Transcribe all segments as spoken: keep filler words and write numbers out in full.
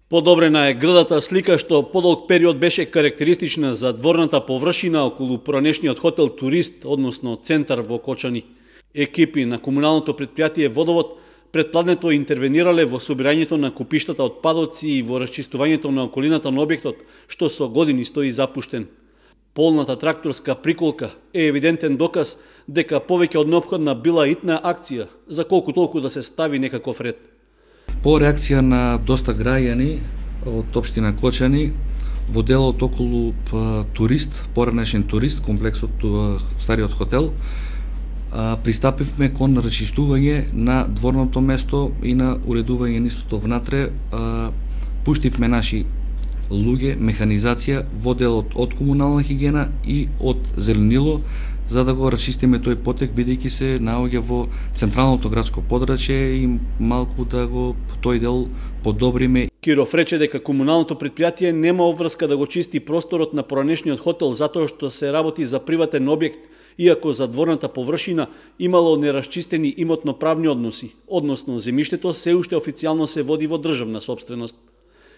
Подобрена е грдата слика што подолг период беше карактеристична за дворната површина околу поранешниот хотел Турист, односно центар во Кочани. Екипи на комуналното предпријатие Водовод предпладнето интервенирале во собирањето на купиштата отпадоци и во расчистувањето на околината на објектот, што со години стои запуштен. Полната тракторска приколка е евидентен доказ дека повеќе од неопходна била итна акција, за колку толку да се стави некаков ред. По реакција на доста граѓани од општина Кочани, во делот околу Турист, поранешен Турист, комплексот стариот хотел, пристапивме кон расчистување на дворното место и на уредување нистото внатре. Пуштивме наши луѓе, механизација во делот од комунална хигиена и од зеленило, за да го расчистиме тој потек, бидејќи се наоѓа во централното градско подрачје и малку да го тој дел подобриме. Киров рече дека комуналното предпријатие нема обврска да го чисти просторот на поранешниот хотел затоа што се работи за приватен објект, иако за дворната површина имало нерасчистени имотно-правни односи, односно земјиштето се уште официјално се води во државна сопственост.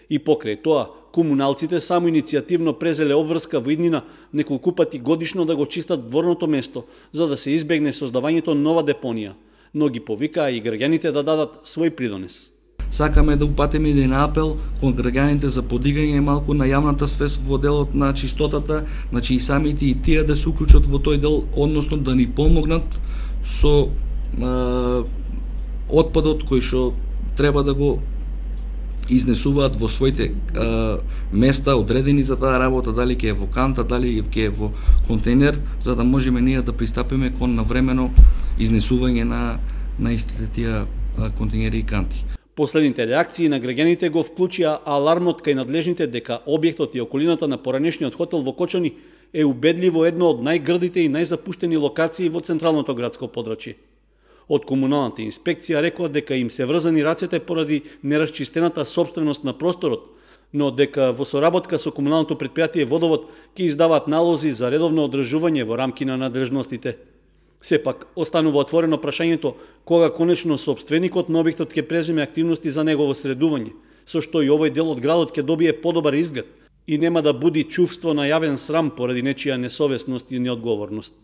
И покрај тоа, комуналците само иницијативно презеле обврска во иднина неколку пати годишно да го чистат дворното место, за да се избегне создавањето нова депонија, но ги повикаа и граѓаните да дадат свој придонес. Сакаме да упатиме и на апел кон граѓаните за подигање малку на јавната свест во делот на чистотата, значи и самите и тие да се уклучат во тој дел, односно да ни помогнат со е, отпадот кој што треба да го изнесуваат во своите е, места одредени за таа работа, дали ќе е во канта, дали ќе е во контейнер, за да можеме ние да пристапиме кон навремено изнесување на на истите тие контейнери и канти. Последните реакции на граѓаните го вклучија алармот кај надлежните дека објектот и околината на поранешниот хотел во Кочани е убедливо едно од најгрдите и најзапуштени локации во централното градско подрачје. Од комуналната инспекција рекоа дека им се врзани рацете поради нерасчистената сопственост на просторот, но дека во соработка со комуналното предпријатие Водовод ќе издаваат налози за редовно одржување во рамки на надлежностите. Сепак, останува отворено прашањето кога конечно сопственикот на објектот ќе преземе активности за негово средување, со што и овој дел од градот ќе добие подобар изглед и нема да буди чувство на јавен срам поради нечија несовесност и неодговорност.